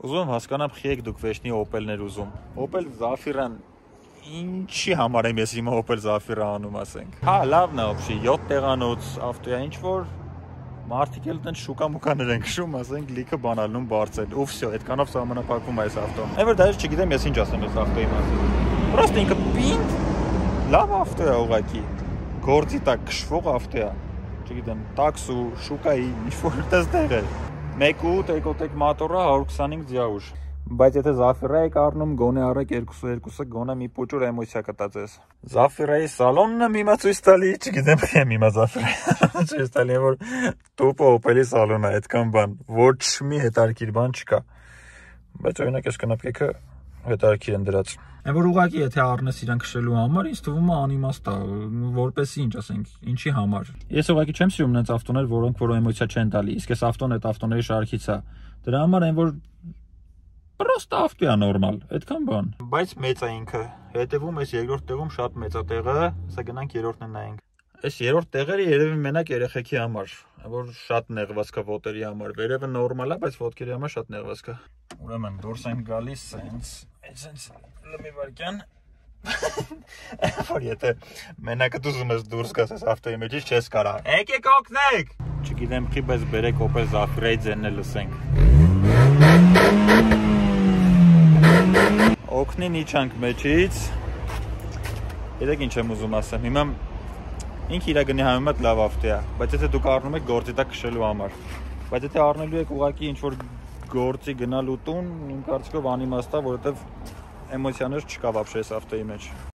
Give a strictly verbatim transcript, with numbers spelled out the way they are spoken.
Ուզում հասկանամ խի եք դուք վեճնի Opel-ներ ուզում։ Opel Zafira-ն ինչի համար եմ ես հիմա Opel Zafira անում, ասենք։ Հա, լավն է, ոբշի, յոթ տեղանոց ավտո է, ինչ որ մարդիկ էլ տենց շուկա-մուկաներ են քշում, ասենք, լիքը բանալնում բարձել։ Ու վсё, այդքանով սահմանափակվում է այս ավտոն։ Այնպես դեռ չգիտեմ ես ինչ ասեմ այս ավտոյի մասին։ Պրոստը ինքը պինդ լավ ավտո է ուղղակի։ Գործի տակ քշվող ավտո է։ Չգիտեմ, տաքսու, շուկայի, ինչ-որ տեղ է։ մեկ ութ էկոտեկ մոտորը հարյուր քսանհինգ ձիաուժ։ Բայց եթե Zafira եք առնում, գոնե առեք երկուսը երկուսը, գոնե մի փոճուր էմոցիա կտա ձեզ։ Zafira-ի սալոնն եմ հիմա ցույց տալի, չգիտեմ թե եմ հիմա Zafira-ի ցույց տալի, որ տուպը Opel-ի սալոնն է, այդքան բան, ոչ մի հետարքիր բան չկա։ Բայց օրինակ այս կնապկեքը հետարքիր են դրած։ Այն որ ուղղակի եթե առնես իրան քշելու համար, ինձ թվում է անիմաստ է, որպեսի ինչ ասենք, ինչի համար։ Ես ուղղակի չեմ սիրում նենց ավտոներ, որոնք որ էմոցիա չեն տալի, իսկ այս ավտոն այդ ավտոների շարքից է։ Դրա համար այն որ պրոստը ավտո է նորմալ, այդքան բան։ Բայց մեծ է ինքը։ Հետևում էս երկրորդ տեղում շատ մեծ է տեղը, հեսա գնանք երրորդն նայենք։ Այս երրորդ տեղերը երևի մենակ երեխեքի համար, որ շատ նեղված կա ոտերի համար։ Վերևը նորմալ է, բայց ոտքերի համար շատ նեղված կա։ Ուրեմն դուրս ենք գալիս սենց, սենց լմի վարքյան։ Որ եթե մենակը ուզում ես դուրս գաս այս ավտոյի մեջից չես կարա։ Եկեք օգնեք։ Չգիտեմ խի, բայց բերեք Opel Zafira-ի ձենն էլ լսենք։ Օգնին իջանք մեջից։ Գիտեք ինչ եմ ուզում ասեմ։ Հիմա ինքը իր գնի համեմատ լավ ավտո է, բայց եթե դուք առնում եք գործի տակ քշելու համար։ Բայց եթե առնելու եք ուղղակի ինչ որ գործի գնալու տուն, իմ կարծիքով անիմաստ է, որովհետև էմոցիաներ չկա вообще այս ավտոյի մեջ։